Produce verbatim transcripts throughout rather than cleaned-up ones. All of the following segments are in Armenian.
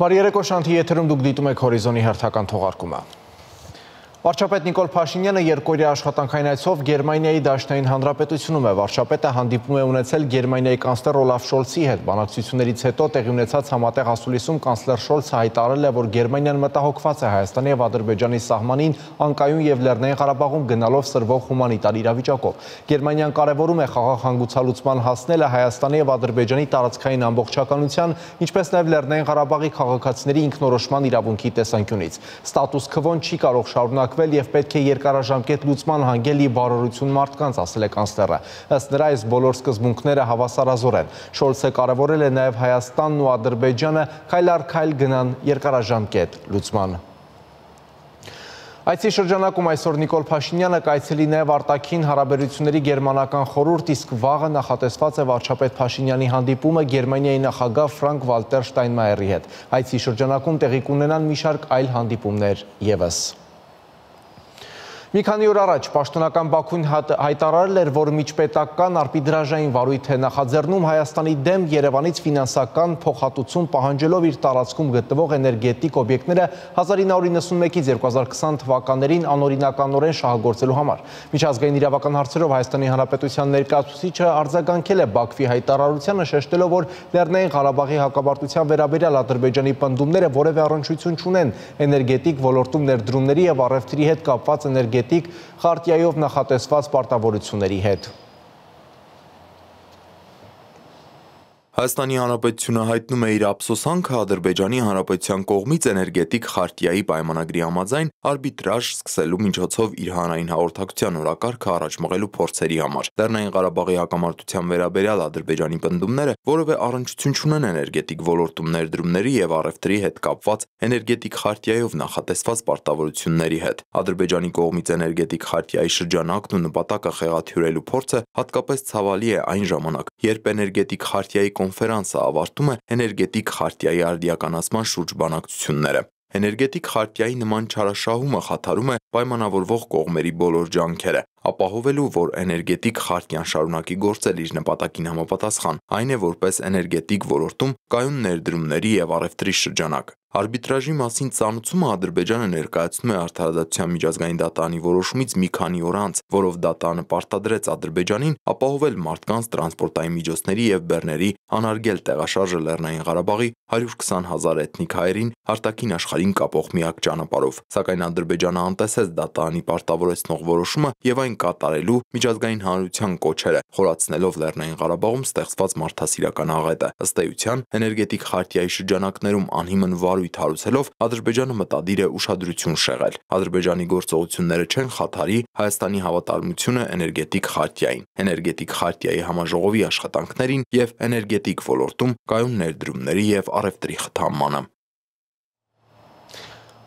Բարի երեկո, Շանթի եթերում դուք դիտում եք Հորիզոնի հերթական թողարկումը։ Վարչապետ Նիկոլ Փաշինյանը երկօրյա աշխատանքային այցով Գերմանիայի Դաշնային Հանրապետությունում է։ Վարչապետը հանդիպում է ունեցել Գերմանիայի կանցլեր Օլաֆ Շոլցի հետ։ Բանակցություններից հետո տեղի ունեցած համատեղ ասուլիսում կանցլեր Շոլցը հայտարարել է, որ Գերմանիան մտահոգված է Հայաստանի եւ Ադրբեջանի սահմանին անկայուն եւ Լեռնային Ղարաբաղում գնալով սրվող հումանիտար իրավիճակով։ Գերմանիան կարևորում է խաղաղ հանգուցալուծման հասնելը Հայաստանի եւ Ադրբեջանի տարածքային ամբողջականության, ինչպես նաեւ Լեռնային Ղարաբաղի քաղաքացիների ինքնորոշման իրավունքի տեսանկյունից։ Ստատուս քվոն չի կարող շարունակվել եւ պետք է երկարաժամկետ լուծման հանգելի բարօրություն մարդկանց, ասել է կանցլերը։ Ըստ նրա, այս բոլոր սկզբունքները հավասարազոր են։ Շոլցը կարևորել է նաեւ Հայաստանն ու Ադրբեջանը քայլ առ քայլ գնան երկարաժամկետ լուծման։ Այցի շրջանակում այսօր Նիկոլ Փաշինյանը կայցելի նաև արտաքին հարաբերությունների գերմանական խորհուրդ, իսկ վաղը նախատեսված է վարչապետ Փաշինյանի հանդիպումը Գերմանիայի նախագահ Ֆրանկ Վալտեր Շտայնմայերի հետ։ Այցի շրջանակում տեղի կունենան մի շարք այլ հանդիպումներ ևս։ Մի քանի օր առաջ պաշտոնական Բաքուն հայտարարել էր, որ միջպետական արբիտրաժային վարույթ է նախաձեռնում Հայաստանի դեմ Երևանից ֆինանսական փոխհատուցում պահանջելով իր տարածքում գտնվող էներգետիկ օբյեկտները հազար ինը հարյուր նվաթ երկու հազար քսան թվականներին անօրինականորեն շահագործելու համար։ Միջազգային իրավական հարցերով Հայաստանի Հանրապետության ներկայացուցիչը արձագանքել է Բաքվի հայտարարությանը, շեշտելով, որ Լեռնային Ղարաբաղի հակամարտության վերաբերյալ Ադրբեջանի պնդումները որևէ առնչություն չունեն էներգետիկ ոլորտում ներդրումների եւ առևտրի հետ կապված էներգետիկ խարտիայով նախատեսված պարտավորությունների հետ։ Հայաստանի Հանրապետությունը հայտնում է իր ափսոսանքը Ադրբեջանի Հանրապետության կողմից էներգետիկ խարտիայի պայմանագրի համաձայն արբիտրաժ սկսելու միջոցով իր հանրային հաղորդակցության օրակարգը առաջ մղելու փորձերի համար։ Լեռնային Ղարաբաղի հակամարտության վերաբերյալ Ադրբեջանի պնդումները որևէ առնչություն չունեն էներգետիկ ոլորտում ներդրումների եւ առևտրի հետ կապված էներգետիկ խարտիայով նախատեսված պարտավորությունների հետ։ Ադրբեջանի կողմից էներգետիկ խարտիայի շրջանակն ու նպատակը խեղաթյուրելու փորձը հատկապես ցավալի է այն ժամանակ, երբ էներգետիկ խարտիայի կոնֆերանսը ավարտում է էներգետիկ խարտիայի արդիականացման շուրջ բանակցությունները։ Էներգետիկ խարտիայի նման չարաշահումը խաթարում է պայմանավորվող կողմերի բոլոր ջանքերը, ապահովելու, որ էներգետիկ խարտիան շարունակի գործել իր նպատակին համապատասխան, այն է որպես էներգետիկ ոլորտում կայուն ներդրումների եւ առևտրի շրջանակ։ Արբիտրաժի մասին ծանուցումը Ադրբեջանը ներկայացնում է Արդարադատության միջազգային դատարանի որոշումից մի քանի օր անց, որով դատարանը պարտադրեց Ադրբեջանին ապահովել մարդկանց, տրանսպորտային միջոցների եւ բեռների անարգել տեղաշարժը Լեռնային Ղարաբաղի հարյուր քսան հազար էթնիկ հայերին արտաքին աշխարհին կապող միակ ճանապարհով։ Սակայն Ադրբեջանը անտեսեց դատարանի պարտավորեցնող որոշումը եւ այն կատարելու միջազգային հանրության կոչերը, խորացնելով Լեռնային Ղարաբաղում ստեղծված մարդասիրական աղետը։ Ըստ էության, էներգետիկ խարտիայի շրջանակներում անհիմն վարույթ հարուցելով Ադրբեջանը մտադիր է ուշադրություն շեղել։ Ադրբեջանի գործողությունները չեն խաթարի Հայաստանի հավատարմությունը էներգետիկ խարտիային, էներգետիկ խարտիայի համաժողովի աշխատանքներին եւ էներգետիկ ոլորտում կայուն ներդրումների եւ առևտրի խթանմանը։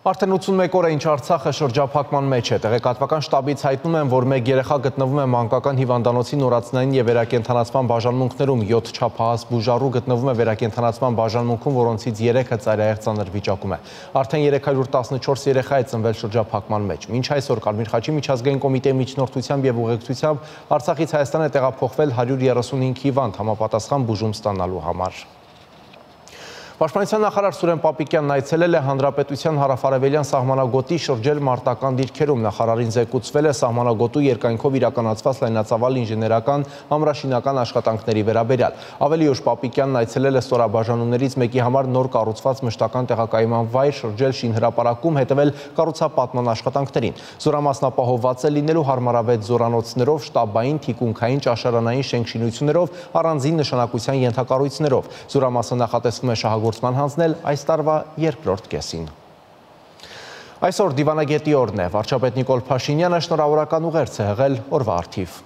Արդեն ութսունմեկ օր է ինչ Արցախը շրջափակման մեջ է։ Տեղեկատվական շտաբից հայտնում են, որ մեկ երեխա գտնվում է մանկական հիվանդանոցի նորածնային եւ վերակենդանացման բաժանմունքներում, յոթ չափահաս բուժառու գտնվում է վերակենդանացման բաժանմունքում, որոնցից երեքը ծայրահեղ ծանր վիճակում է։ Արդեն երեք հարյուր տասնչորս երեխա է ծնվել շրջափակման մեջ։ Մինչ այսօր Կարմիր խաչի միջազգային կոմիտեի միջնորդությամբ եւ ուղեկցությամբ Արցախից Հայաստան է տեղափոխվել հարյուր երեսունհինգ հիվանդ համապատասխան բուժում ստանալու համար։ Պաշտպանության նախարար Սուրեն Պապիկյանն այցելել է Հանրապետության հարավարևելյան սահմանագոտի շրջել մարտական դիրքերում։ Նախարարին զեկուցվել է սահմանագոտու երկայնքով իրականացված լայնածավալ ինժեներական ամրաշինական աշխատանքների վերաբերյալ։ Ավելի ուշ Պապիկյանն այցելել է ստորաբաժանումներից մեկի համար նոր կառուցված մշտական տեղակայման վայր, շրջել շինհրապարակում, հետևել կառուցապատման աշխատանքներին։ Զորամասն ապահովված է լինելու հարմարավետ զորանոցներով, շտաբային, թիկունքային, ճաշարանային շենքշինություններով, առանձին նշանակության ենթակառույցներով։ Զորամասը նախատեսվում է շահագործման հանձնել այս տարվա երկրորդ կեսին։ Այսօր դիվանագետի օրն է։ Վարչապետ Նիկոլ Փաշինյանը շնորհավորական ուղերձ է հղել օրվա առթիվ։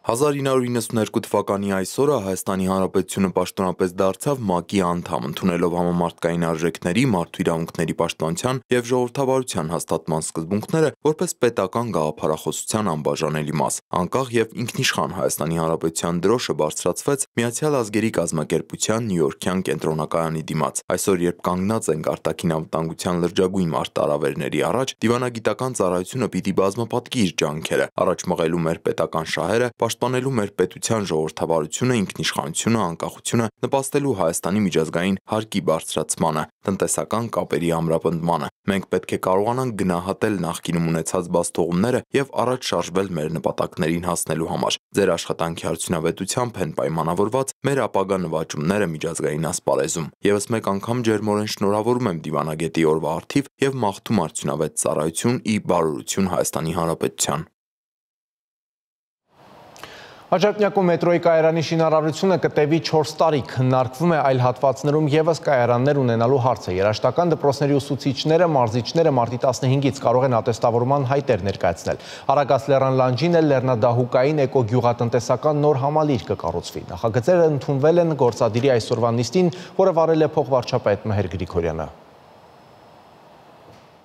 հազար ինը հարյուր իննսունհերկու թվականի այսօրը Հայաստանի Հանրապետությունը պաշտոնապես դարձավ ՄԱԿ-ի անդամ, ընդունելով համամարտկային արժեքների, մարդու իրավունքների պաշտպանության եւ ժողովրդավարության հաստատման սկզբունքները որպես պետական գաղափարախոսության անբաժանելի մաս։ Անկախ եւ ինքնիշխան Հայաստանի Հանրապետության դրոշը բարձրացվեց Միացյալ Ազգերի կազմակերպության Նյույորքյան կենտրոնակայանի դիմաց։ Այսօր, երբ կանգնած ենք արտաքին անվտանգության լրջագույն մարտահրավերների առաջ, դիվանագիտական ծառայությունը պիտի բազմապատկի իր ջանքերը, առաջ մղելու մեր պետական շահերը, պաշտպանելու մեր պետության ժողովրդավարությունը, ինքնիշխանությունը, անկախությունը, նպաստելու Հայաստանի միջազգային հարկի բարձրացմանը, տնտեսական կապերի ամրապնդմանը։ Մենք պետք է կարողանանք գնահատել նախկինում ունեցած բացթողումները եւ առաջ շարժվել մեր նպատակներին հասնելու համար։ Ձեր աշխատանքի արդյունավետությամբ են պայմանավորված մեր ապագա նվաճումները միջազգային ասպարեզում։ Եվս մեկ անգամ ջերմորեն շնորհավորում եմ դիվանագետի օրվա առթիվ եւ մաղթում արդյունավետ ծառայություն ի բարօրություն Հայաստանի Հանրապետության։ Աջափնյակում մետրոյի կայարանի շինարարությունը կտևի չորս տարի, քննարկվում է այլ հատվածներում ևս կայարաններ ունենալու հարցը։ Երաժշտական դպրոցների ուսուցիչները, մարզիչները մարտի տասնհինգից կարող են ատեստավորման հայտեր ներկայացնել։ Արագած լեռան լանջին էլ լեռնադահուկային էկոգյուղատնտեսական նոր համալիր կկառուցվի։ Նախագծերը ընդունվել են գործադիրի այսօրվա նիստին, որը վարել է փոխվարչապետ Մհեր Գրիգորյանը։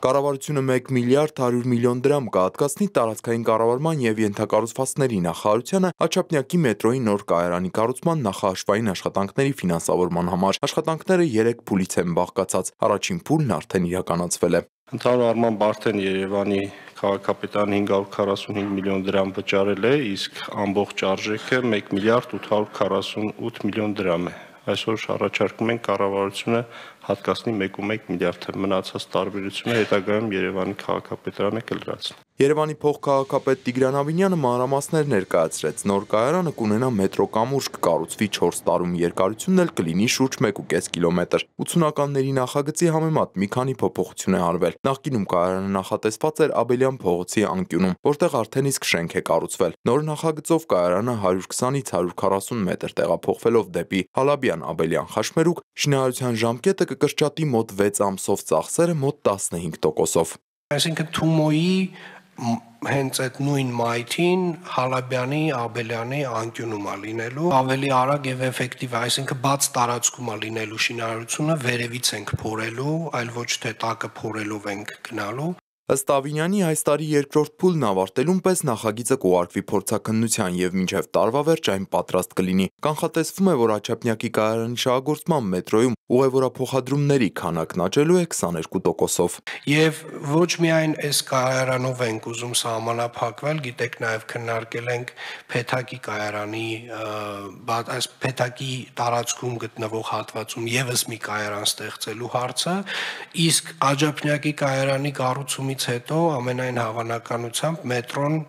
Կառավարությունը մեկ միլիարդ հարյուր միլիոն դրամ կհատկացնի տարածքային կառավարման եւ ենթակառուցվածքների նախարարությանը Աջափնյակի մետրոյի նոր կայարանի կառուցման նախահաշվային աշխատանքների ֆինանսավորման համար։ Աշխատանքները երեք փուլից են բաղկացած։ Առաջին փուլն արդեն իրականացվել է։ Ընդհանուր առմամբ արդեն Երևանի քաղաքապետարանը հինգ հարյուր քառասունհինգ միլիոն դրամ վճարել է, իսկ ամբողջ արժեքը մեկ միլիարդ ութ հարյուր քառասունութ միլիոն դրամ է։ Այսօր առաջարկում են կառավարությունը հատկացնի մեկ կόμμα մեկ միլիարդ մնացած տարբերությունը հետագայում Երևանի քաղաքապետարանը կլրացնի։ Երևանի փոխքաղաքապետ Տիգրան Ավինյանը մանրամասներ ներկայացրեց։ Նոր կայարանը կունենա մետրո կամուրջ, կկառուցվի չորս տարում, երկարությունն էլ կլինի շուրջ մեկ ու կես կիլոմետր։ ութսունականների նախագծի համեմատ մի քանի փոփոխություն է արվել։ Նախկինում կայարանը նախատեսված էր Աբելյան փողոցի անկյունում, որտեղ արդեն իսկ շենք է կառուցվել։ Նոր նախագծով կայարանը հարյուր քսանից հարյուր քառասուն մետր տեղափոխվելով դեպի Հալաբյան-Աբելյան խաչմերուկ, շինարարության ժամկետը կկրճատի մոտ վեց ամսով ծախսերը մոտ տասնհինգ տոկոսով։ Այսինքն Թումոյի հենց այդ նույն մայթին Հալաբյանի, Աբելյանի անկյունում է լինելու, ավելի արագ եւ էֆեկտիվ, այսինքն բաց տարածքում է լինելու շինարարությունը, վերևից ենք փորելու, այլ ոչ թե տակը փորելով ենք գնալու։ Ըստ Ավինյանի այս տարի երկրորդ փուլն ավարտելուն պես նախագիծը կուղարկվի փորձաքննության եւ մինչեւ տարվա վերջ այն պատրաստ կլինի։ Կանխատեսվում է, որ Աջափնյակի կայարանի շահագործման մետրոյում ուղևորափոխադրումների քանակն աճելու է քսաներկու տոկոսով։ Եվ ոչ միայն այս կայարանով ենք ուզում սահմանափակվել, գիտեք, նաեւ քննարկել ենք Փեթակի կայարանի, այս Փեթակի տարածքում գտնվող հատվածում եւս մի կայարան ստեղծելու հարցը, իսկ Աջափնյակի կայարանի կառուցումից հետո ամենայն հավանականությամբ մետրոն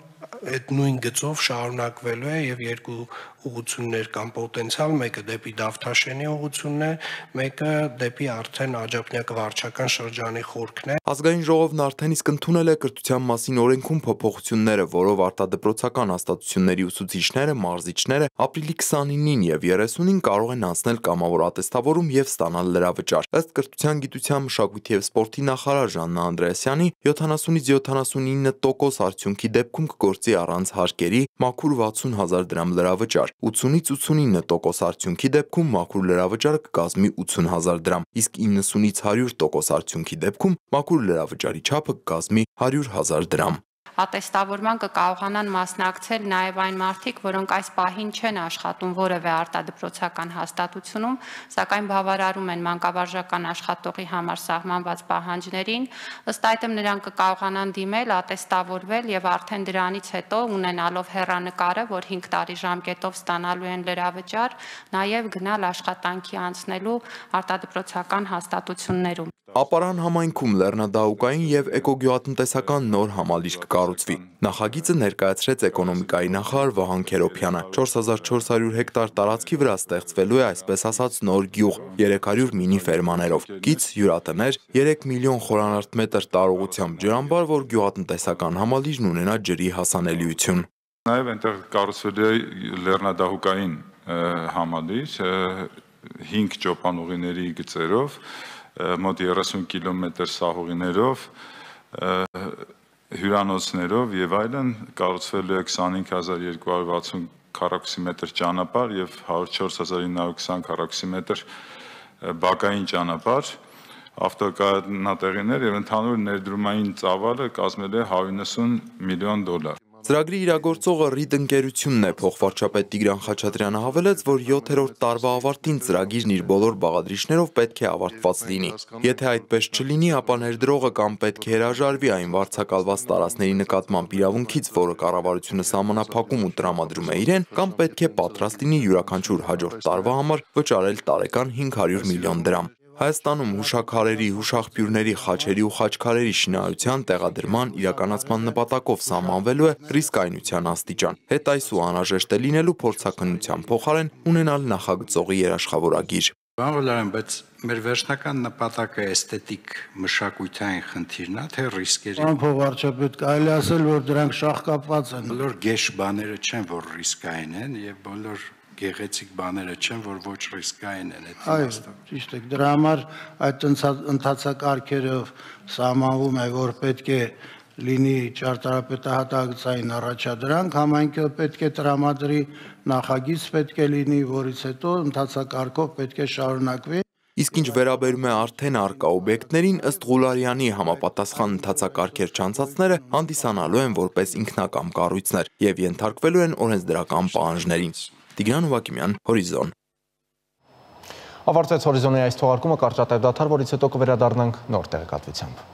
այդ նույն գծով շարունակվելու է եւ երկու ուղղություններ կան պոտենցիալ, մեկը դեպի Դավթաշենի ուղղությունն է, մեկը դեպի արդեն Աջափնյակը վարչական շրջանի խորքն է։ Ազգային ժողովն արդեն իսկ ընդունել է կրթության մասին օրենքում փոփոխությունները, որով արտադրոցական հաստատությունների ուսուցիչները, մարզիչները ապրիլի քսանինին եւ երեսունին կարող են անցնել կամավոր ատեստավորում եւ ստանալ լրավճար։ Ըստ կրթության, գիտության, մշակույթի եւ սպորտի նախարար Ժաննա Անդրեասյանի յոթանասունից յոթանասունինը տոկոս արդյունքի դեպքում կգործի առանց հարկերի մաքուր վաթսուն հազար դրամ լրավճար։ ութսունից ութսունինը տոկոս արդյունքի դեպքում մաքուր լրավճարը կկազմի ութսուն հազար դրամ, իսկ իննսունից հարյուր տոկոս արդյունքի դեպքում մաքուր լրավճարի չափը կկազմի հարյուր հազար դրամ։ Ատեստավորման կկարողանան մասնակցել նաև այն մարդիկ, որոնք այս պահին չեն աշխատում որևէ արտադրոցական հաստատությունում, սակայն բավարարում են մանկավարժական աշխատողի համար սահմանված պահանջներին, ըստ այդմ նրանք կկարողանան դիմել, ատեստավորվել եւ արդեն դրանից հետո ունենալով հեռանկարը, որ հինգ տարի ժամկետով ստանալու են լրավճար, նաև գնալ աշխատանքի անցնելու արտադրոցական հաստատություններում։ Ապարան համայնքում լեռնադահուկային եւ էկոգյուղատնտեսական նոր համալիր կկառուցվի։ Նախագիծը ներկայացրեց էկոնոմիկայի նախարար Վահան Քերոփյանը։ չորս հազար չորս հարյուր հեկտար տարածքի վրա ստեղծվելու է այսպես ասած նոր գյուղ երեք հարյուր մինի ֆերմաներով, կից հյուրատներ, երեք միլիոն խորանարդ մետր տարողությամբ ջրամբար, որ գյուղատնտեսական համալիրն ունենա ջրի հասանելիություն։ Նաեւ այնտեղ կառուցվել է լեռնադահուկային համալիր հինգ ճոպանուղիների գծերով, մոտ երեսուն կիլոմետր սահուղիներով, հյուրանոցներով եւ այլն, կառուցվելու է քսանհինգ հազար երկու հարյուր վաթսուն քառակուսիմետր ճանապարհ եւ հարյուր ու չորս հազար ինը հարյուր քսան քառակուսիմետր բակային ճանապարհ, ավտոկայանատեղիներ եւ ընդհանուր ներդրումային ծավալը կազմել է հարյուր նվսուն միլիոն դոլար։ Ծրագրի իրագործողը ռիդ ընկերությունն է, փոխվարչապետ Տիգրան Խաչատրյանը հավելեց, որ յոթերորդ տարվա ավարտին ծրագիրն իր բոլոր բաղադրիչներով պետք է ավարտված լինի։ Եթե այդպես չլինի, ապա ներդրողը կամ պետք է հրաժարվի այն վարձակալված տարածքների նկատմամբ իրավունքից, որը կառավարությունը սահմանափակում ու տրամադրում է իրեն, կամ պետք է պատրաստ լինի յուրաքանչյուր հաջորդ տարվա համար վճարել տարեկան հինգ հարյուր միլիոն դրամ։ Հայաստանում հուշաքարերի, հուշաղբյուրների, խաչերի ու խաչքարերի շինարարության տեղադրման իրականացման նպատակով սահմանվելու է ռիսկայնության աստիճան։ Հետայս ու անհրաժեշտ է լինելու փորձաքննության փոխարեն ունենալ նախագծողի երաշխավորագիր։ Բանվոլարան, բայց մեր վերջնական նպատակը էսթետիկ մշակութային խնդիրն է, թե ռիսկերի։ Պարոն փոխվարչապետ, կարելի ասել, որ դրանք շահկապված են։ Բոլոր գեշ բաները չեն, որ ռիսկային են, եւ բոլոր գեղեցիկ բաները չեն, որ ոչ ռիսկային են այդ իմաստով։ Ճիշտ է, դրա համար այդ ընթացակարգերով սահմանվում է, որ պետք է լինի ճարտարապետահատակցային առաջադրանք, համայնքը պետք է տրամադրի, նախագիծ պետք է լինի, որից հետո ընթացակարգով պետք է շարունակվի։ Իսկ ինչ վերաբերում է արդեն առկա օբյեկտներին, ըստ Ղուլարյանի համապատասխան ընթացակարգեր չանցածները հանդիսանալու են որպես ինքնակամ կառույցներ եւ ենթարկվելու են օրենսդրական պահանջներին։ Տիգրան Ուվակիմյան, Հորիզոն։ Ավարտվեց Հորիզոնի այս թողարկումը, կարճատև դադար, որից հետո կվերադառնանք նոր տեղեկատվությամբ։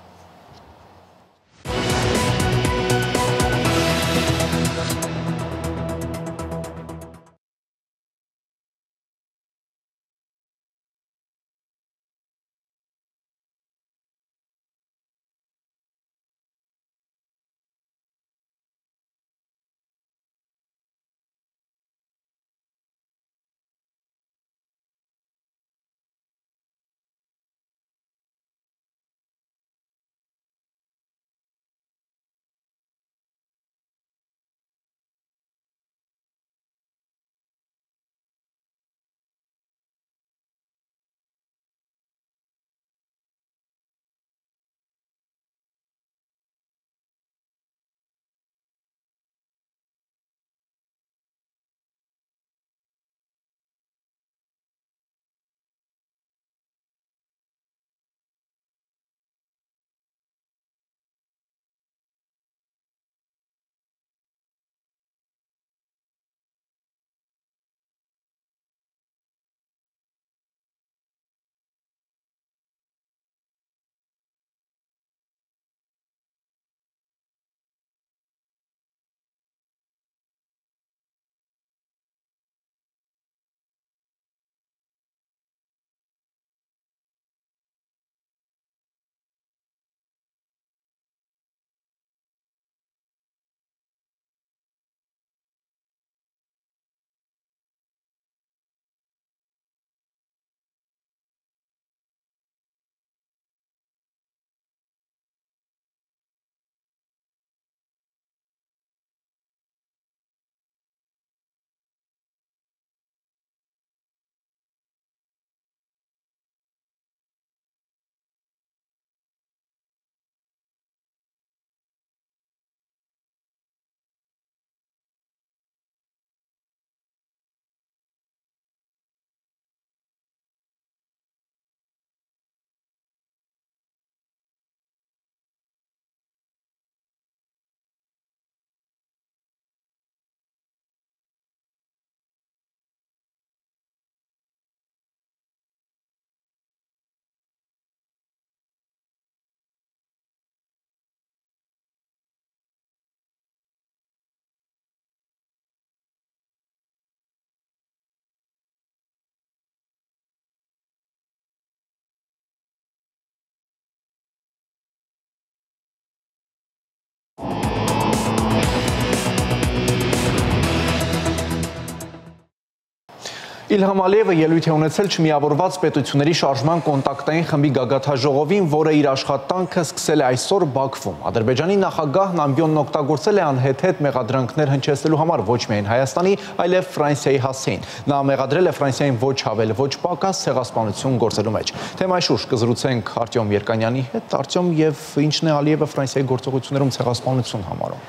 Իլհամ Ալիևը ելույթ է ունեցել Չմիավորված պետությունների շարժման կոնտակտային խմբի գագաթնաժողովին, որը իր աշխատանքը սկսել է այսօր Բաքվում։ Ադրբեջանի նախագահն ամբիոնն օգտագործել է անհեթեթ մեղադրանքներ հնչեցնելու համար ոչ միայն Հայաստանի, այլև Ֆրանսիայի հասցեին։ Նա մեղադրել է Ֆրանսիային ոչ ավել, ոչ պակաս ցեղասպանություն գործելու մեջ։ Թեմայի շուրջ կզրուցենք Արտյոմ Երկանյանի հետ։ Արտյոմ, եւ ինչն է Ալիևը Ֆրանսիայի գործողություններում ցեղասպանություն համարում։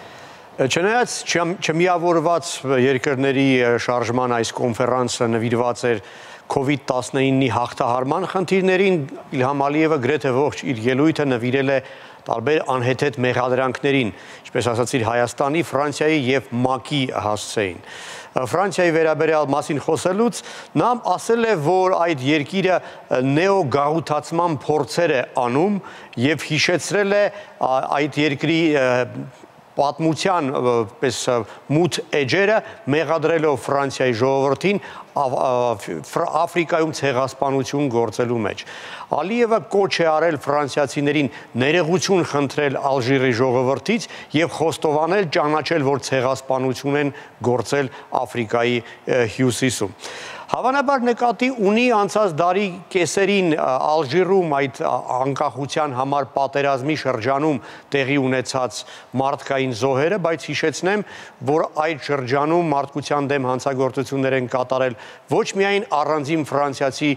Չնայած չմիավորված երկրների շարժման այս կոնֆերանսը նվիրված էր քովիդ տասնինի հաղթահարման խնդիրներին, Իլհամ Ալիևը գրեթե ողջ իր ելույթը նվիրել է տարբեր անհեթեթ մեղադրանքներին, ինչպես ասացիր, Հայաստանի, Ֆրանսիայի եւ ՄԱԿ-ի հասցեին։ Ֆրանսիայի վերաբերյալ մասին խոսելուց նա ասել է, որ այդ երկիրը նեոգաղութացման փորձեր է անում եւ հիշեցրել է այդ երկրի պատմության պես մութ էջերը մեղադրելով Ֆրանսիայի ժողովրդին Աֆրիկայում ցեղասպանություն գործելու մեջ։ Ալիևը կոչ է արել ֆրանսիացիներին ներողություն խնդրել Ալժիրի ժողովրդից եւ խոստովանել ճանաչել, որ ցեղասպանություն են գործել Աֆրիկայի հյուսիսում։ Հավանաբար նկատի ունի անցած դարի կեսերին Ալժիրում այդ անկախության համար պատերազմի շրջանում տեղի ունեցած մարդկային զոհերը, բայց հիշեցնեմ, որ այդ շրջանում մարդկության դեմ հանցագործություններ են կատարել ոչ միայն առանձին ֆրանսիացի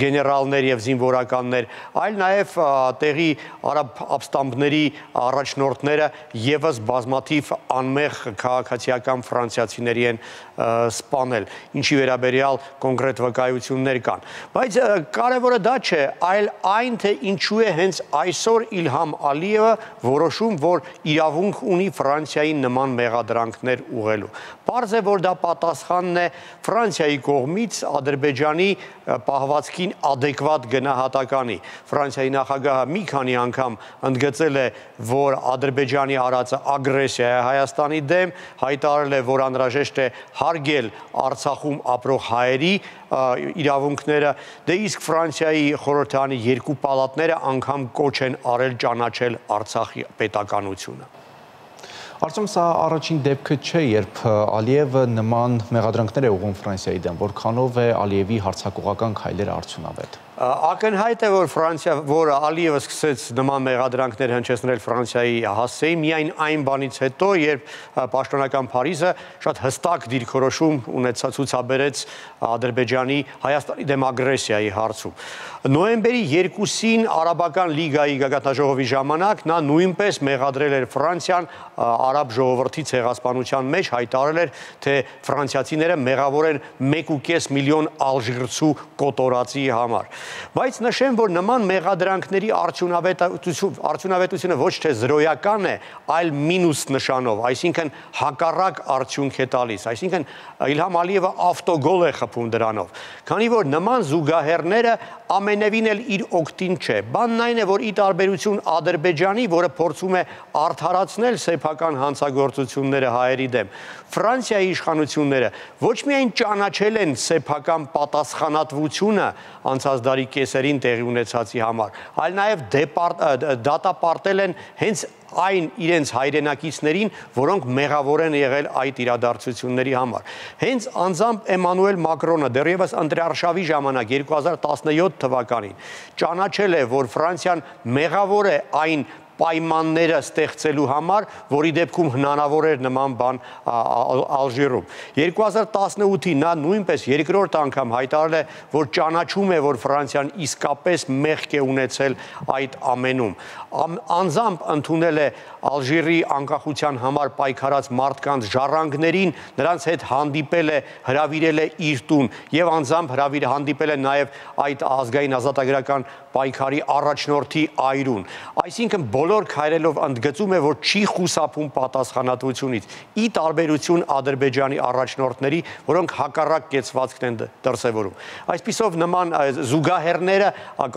գեներալներ եւ զինվորականներ, այլ նաեւ տեղի արաբ ապստամբների առաջնորդները եւս բազմաթիվ անմեղ քաղաքացիական ֆրանսիացիների են սպանել, ինչի վերաբերյալ կոնկրետ վկայություններ կան։ Բայց կարևորը դա չէ, այլ այն, թե ինչու է հենց այսօր Իլհամ Ալիևը որոշում, որ իրավունք ունի Ֆրանսիայի նման մեղադրանքներ ուղղելու։ Պարզ է, որ դա պատասխանն է Ֆրանսիայի կողմից Ադրբեջանի պահվածքին ադեկվատ գնահատականի։ Ֆրանսիայի նախագահը մի քանի անգամ ընդգծել է, որ Ադրբեջանի արածը ագրեսիա է Հայաստանի դեմ, հայտարարել է, որ անհրաժեշտ է հարգել Արցախում ապրող հայերի իրավունքները, դե իսկ Ֆրանսիայի խորհրդարանի երկու պալատները անգամ կոչ են արել ճանաչել Արցախի պետականությունը։ Արդյոք սա առաջին դեպքը չէ, երբ Ալիևը նման մեղադրանքներ է ուղղում Ֆրանսիայի դեմ, որքանով է Ալիևի հարձակողական քայլերը արդյունավետ։ Ակնհայտ է, որ Ֆրանսիա, որ Ալիևը սկսեց նման մեղադրանքներ հնչեցնել Ֆրանսիայի հասցեին, միայն այն բանից հետո, երբ պաշտոնական Փարիզը շատ հստակ դիրքորոշում ունեցած ցուցաբերեց Ադրբեջանի Հայաստանի դեմ ագրեսիայի հարցում։ Նոյեմբերի երկուսին Արաբական լիգայի գագաթնաժողովի ժամանակ նա նույնպես մեղադրել էր Ֆրանսիան արաբ ժողովրդի ցեղասպանության մեջ, հայտարարել էր, թե ֆրանսիացիները մեղավոր են մեկ ու կես միլիոն ալժիրցու կոտորածի համար։ Բայց նշեմ, որ նման մեղադրանքների արդյունավետությունը ոչ թե զրոյական է, այլ մինուս նշանով, այսինքն հակառակ արդյունք է տալիս, այսինքն Իլհամ Ալիևը ավտոգոլ է խփում դրանով, քանի որ նման զուգահեռները ամենևին էլ իր օգտին չէ։ Բանն այն է, որ ի տարբերություն Ադրբեջանի, որը փորձում է արդարացնել սեփական հանցագործությունները հայերի դեմ, Ֆրանսիայի իշխանությունները ոչ միայն ճանաչել են սեփական պատասխանատվությունը անցած դարի կեսերին տեղի ունեցածի համար, այլ նաև դատապարտել են հենց այն իրենց հայրենակիցներին, որոնք մեղավոր են եղել այդ իրադարձությունների համար։ Հենց անձամբ Էմանուել Մակրոնը դեռևս ընտրարշավի ժամանակ երկու հազար տասնյոթ թվականին ճանաչել է, որ Ֆրանսիան մեղավոր է այն պայմանները ստեղծելու համար, որի դեպքում հնարավոր էր նման բան Ալժիրում։ երկու հազար տասնութին նա նույնպես երկրորդ անգամ հայտարարել է, որ ճանաչում է, որ Ֆրանսիան իսկապես մեղք է ունեցել այդ ամենում։ Անձամբ ընդունել է Ալժիրի անկախության համար պայքարած մարդկանց ժառանգներին, նրանց հետ հանդիպել է, հրավիրել է իր տուն եւ անձամբ հրավիր հանդիպել է նաեւ այդ ազգային ազատագրական պայքարի առաջնորդի այրուն։ Այսինքն բոլոր քայլերով ընդգծում է, որ չի խուսափում պատասխանատվությունից, ի տարբերություն Ադրբեջանի առաջնորդների, որոնք հակառակ կեցվածքն են դրսևորում։ Այսպիսով նման զուգահեռները,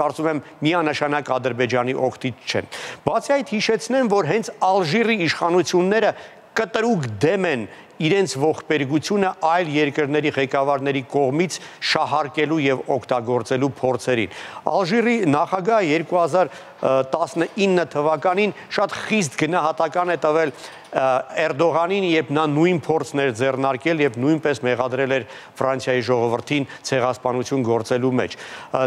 կարծում եմ, միանշանակ Ադրբեջանի օգտից չեն։ Բացի այդ, հիշեցնեմ, որ հենց Ալժիրի իշխանությունները կտրուկ դեմ են իրենց ողբերգությունը այլ երկրների ղեկավարների կողմից շահարկելու եւ օգտագործելու փորձերին։ Ալժիրի նախագահը երկու հազար տասնինը թվականին շատ խիստ գնահատական է տվել Էրդողանին, երբ նա նույն փորձն էր ձեռնարկել եւ նույնպես մեղադրել էր Ֆրանսիայի ժողովրդին ցեղասպանություն գործելու մեջ։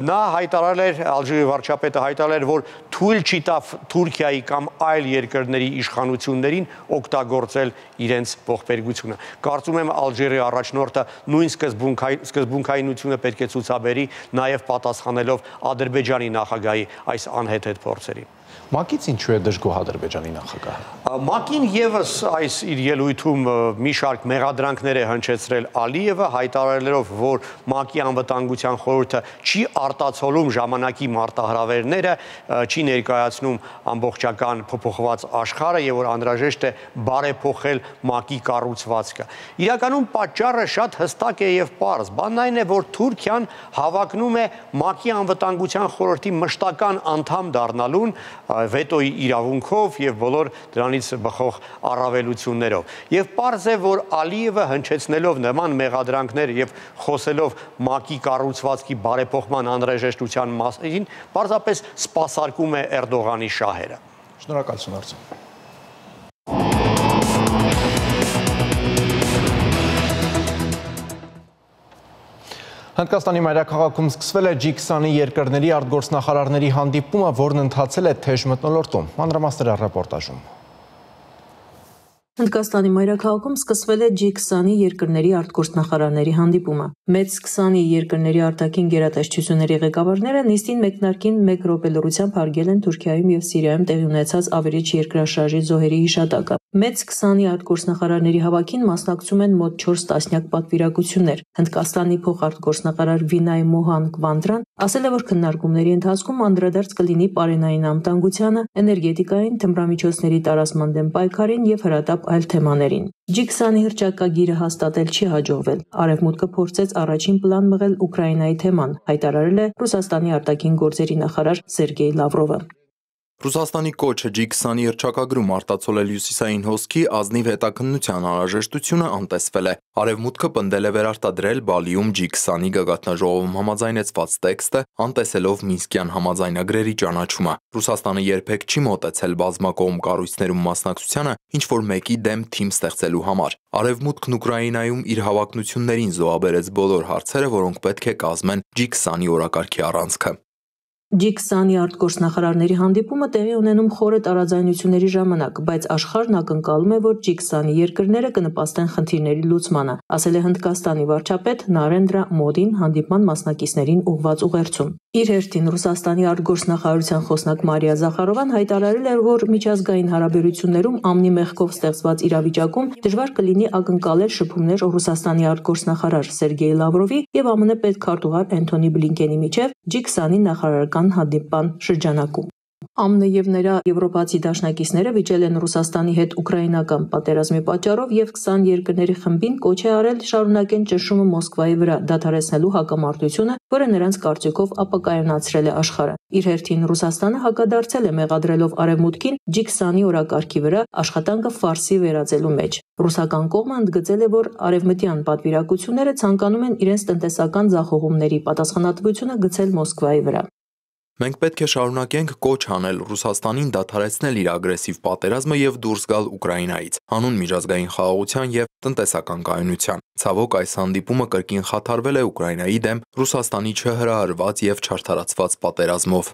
Նա հայտարարել էր, Ալժիրի վարչապետը հայտարարել էր, որ թույլ չի տա Թուրքիայի կամ այլ երկրների իշխանություններին օգտագործել իրենց ողբերգությունը։ Կարծում եմ Ալժիրի առաջնորդը նույն սկզբունքայնությունը պետք է ցուցաբերի, նաեւ պատասխանելով Ադրբեջանի նախագահի այս անհեթեթ փորձերին։ ՄԱԿ-ից ինչու է դժգոհ Ադրբեջանի նախագահը։ ՄԱԿ-ին եւս այս իր ելույթում մի շարք մեղադրանքներ է հնչեցրել Ալիևը, հայտարարելով, որ ՄԱԿ-ի անվտանգության խորհուրդը չի արտացոլում ժամանակի մարտահրավերները, չի ներկայացնում ամբողջական փոփոխված աշխարհը եւ որ անհրաժեշտ է բարեփոխել ՄԱԿ-ի կառուցվածքը։ Իրականում պատճառը շատ հստակ է եւ պարզ։ Բանն այն է, որ Թուրքիան հավակնում է ՄԱԿ-ի անվտանգության խորհրդի մշտական անդամ դառնալուն վետոյի իրավունքով եւ բոլոր դրանից բխող առավելություններով։ Եվ պարզ է, որ Ալիևը հնչեցնելով նման մեղադրանքներ եւ խոսելով ՄԱԿ-ի կառուցվածքի բարեփոխման անհրաժեշտության մասին, պարզապես սպասարկում է Էրդողանի շահերը։ Շնորհակալություն Արծուն։ Հնդկաստանի մայրաքաղաքում սկսվել է ջի քսանի երկրների արտգործնախարարների հանդիպումը, որն ընթացել է թեժ մթնոլորտում։ Մանրամասները ռեպորտաժում։ Հնդկաստանի մայրաքաղաքում սկսվել է ջի քսանի երկրների արտգործնախարարների հանդիպումը։ Մեծ քսանի երկրների արտաքին գերատեսչությունների ղեկավարները նիստին մեկնարկին մեկ րոպե լռությամբ հարգել են Թուրքիայում եւ Սիրիայում տեղի ունեցած ավերիչ երկրաշարժի զոհերի հիշատակը։ Մեծ քսանի արտգործնախարարների հավաքին մասնակցում են մոտ չորս տասնյակ պատվիրակություններ։ Հնդկաստանի փոխարտգործնախարար Վինայ Մոհան Կվանդրան ասել է, որ քննարկումների ընթացքում անդրադարձ կլինի պարենային անվտանգությանը, էներգետիկային, թմրամիջոցների տարածման դեմ պայքարին եւ հրատապ այլ թեմաներին։ ջի քսանի հռչակագիրը հաստատել չի հաջողվել։ Արևմուտքը փորձեց առաջին պլան մղել Ուկրաինայի թեման, հայտարարել է Ռուսաստանի արտաքին գործերի նախարար Սերգեյ Լավրովը։ Ռուսաստանի կոչը ջի քսանի հռչակագրում արտացոլել հյուսիսային հոսքի ազնիվ հետաքննության անհրաժեշտությունը անտեսվել է։ Արևմուտքը պնդել է վերարտադրել Բալիում ջի քսանի գագաթնաժողովում համաձայնեցված տեքստը, անտեսելով Մինսկյան համաձայնագրերի ճանաչումը։ Ռուսաստանը երբեք չի մոտեցել բազմակողմ կառույցներում մասնակցությանը, ինչ որ մեկի դեմ թիմ ստեղծելու համար։ Արևմուտքն Ուկրաինայում իր հավակնություններին զոհաբերեց բոլոր հարցերը, որոնք պետք է կազմեն ջի քսանի օրակարգի առանցքը։ ջի քսանի արտգործնախարարների հանդիպումը տեղի ունենում խորը տարաձայնությունների ժամանակ, բայց աշխարհն ակնկալում է, որ ջի քսանի երկրները կնպաստեն խնդիրների լուծմանը, ասել է Հնդկաստանի վարչապետ Նարենդրա Մոդին հանդիպման մասնակիցներին ուղղված ուղերձում։ Իր հերթին Ռուսաստանի արտգործնախարարության խոսնակ Մարիա Զախարովան հայտարարել էր, որ միջազգային հարաբերություններում ամնի մեղքով ստեղծված իրավիճակում դժվար կլինի ակնկալել շփումներ Ռուսաստանի արտգործնախարար Սերգեյ Լավրովի եւ ԱՄՆ պետքարտուղար Էնթոնի Բլինկենի միջև ջի քսանի նախարարական հանդիպան շրջանակում։ ԱՄՆ եւ նրա եվրոպացի դաշնակիցները վիճել են Ռուսաստանի հետ ուկրաինական պատերազմի պատճառով եւ քսան երկրների խմբին կոչ է արել շարունակեն ճնշումը Մոսկվայի վրա դադարեցնելու հակամարտությունը, որը նրանց կարծիքով ապակայունացրել է աշխարհը։ Իր հերթին Ռուսաստանը հակադարձել է մեղադրելով Արևմուտքին ջի քսանի օրակարգի վրա աշխատանքը ֆարսի վերածելու մեջ։ Ռուսական կողմը ընդգծել է, որ արևմտյան պատվիրակությունները ցանկանում են իրենց տնտեսական ձախողումների պատասխանատվությունը գցել Մոսկվայի վրա։ Մենք պետք է շարունակենք կոչ անել Ռուսաստանին դադարեցնել իր ագրեսիվ պատերազմը եւ դուրս գալ Ուկրաինայից, հանուն միջազգային խաղաղության եւ տնտեսական կայունության։ Ցավոք, այս հանդիպումը կրկին խաթարվել է Ուկրաինայի դեմ Ռուսաստանի չհրահրված եւ չարդարացված պատերազմով։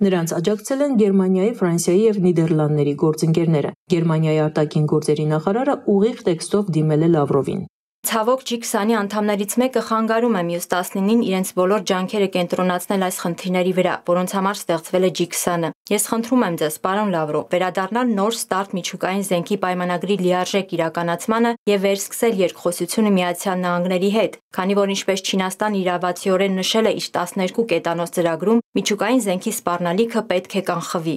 Նրանց աջակցել են Գերմանիայի, Ֆրանսիայի եւ Նիդերլանդների գործընկերները։ Գերմանիայի արտաքին գործերի նախարարը ուղիղ տեքստով դիմել է Լավրովին։ Ցավոք ջի քսանի անդամներից մեկը խանգարում է մյուս տասնինին իրենց բոլոր ջանքերը կենտրոնացնել այս խնդիրների վրա, որոնց համար ստեղծվել է ջի քսանը։ Ես խնդրում եմ ձեզ, պարոն Լավրով, վերադառնալ նոր ստարտ միջուկային զենքի պայմանագրի լիարժեք իրականացմանը եւ վերսկսել երկխոսությունը Միացյալ Նահանգների հետ, քանի որ ինչպես Չինաստանը իրավացիորեն նշել է իր տասներկու կետանոց ծրագրում, միջուկային զենքի սպառնալիքը պետք է կանխվի։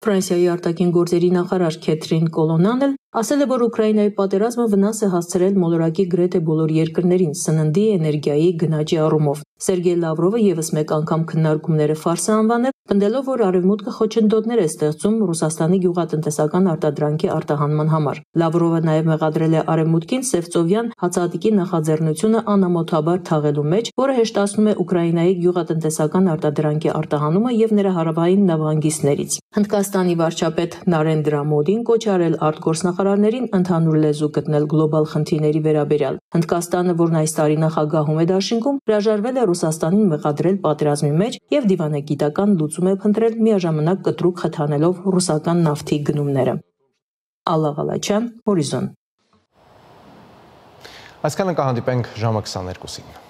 Ֆրանսիայի արտաքին գործերի նախարար Քեթրին Կոլոնան էլ ասել է, որ Ուկրաինայի պատերազմը վնաս է հասցրել մոլորակի գրեթե բոլոր երկրներին սննդի, էներգիայի, գնաճի առումով։ Սերգեյ Լավրովը եւս մեկ անգամ քննարկումները ֆարս է անվանել, պնդելով, որ Արևմուտքը խոչընդոտներ է ստեղծում Ռուսաստանի գյուղատնտեսական արտադրանքի արտահանման համար։ Լավրովը նաեւ մեղադրել է Արևմուտքին Սևծովյան հացահատիկի նախաձեռնությունը անամոթաբար թաղելու մեջ, որը հեշտացնում է Ուկրաինայի գյուղատնտեսական արտադրանքի արտահանումը եւ նրա հարավային նավահանգիստներից։ Հնդկաստանի վարչապետ Նարենդրա Մոդին կոչ արել արտգործնախարարներին ընդհանուր լեզու գտնել գլոբալ խնդիրների վերաբերյալ։ Հնդկաստանը, որն այս տարի նախագահում է դաշինքում, հրաժարվել է Ռուսաստանին մեղադրել պատերազմի մեջ եւ դիվանագիտական լուծում է փնտրել միաժամանակ կտրուկ խթանելով ռուսական նավթի գնումները։ Ալլա Ղալաչյան, Հորիզոն։ Այսքանը կհանդիպենք ժամը քսաներկուսին։